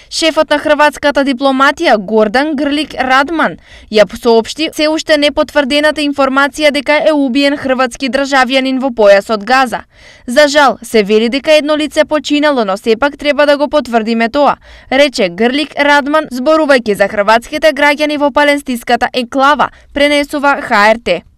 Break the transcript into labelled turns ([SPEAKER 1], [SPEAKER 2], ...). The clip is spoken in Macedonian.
[SPEAKER 1] Шефот на хрватската дипломатија Гордан Грлик Радман ја соопшти се уште непотврдената информација дека е убиен хрватски државјанин во појасот Газа. За жал, се вели дека едно лице починало, но сепак треба да го потврдиме тоа, рече Грлик Радман зборувајќи за хрватските граѓани во палестинската енклава, пренесува ХРТ.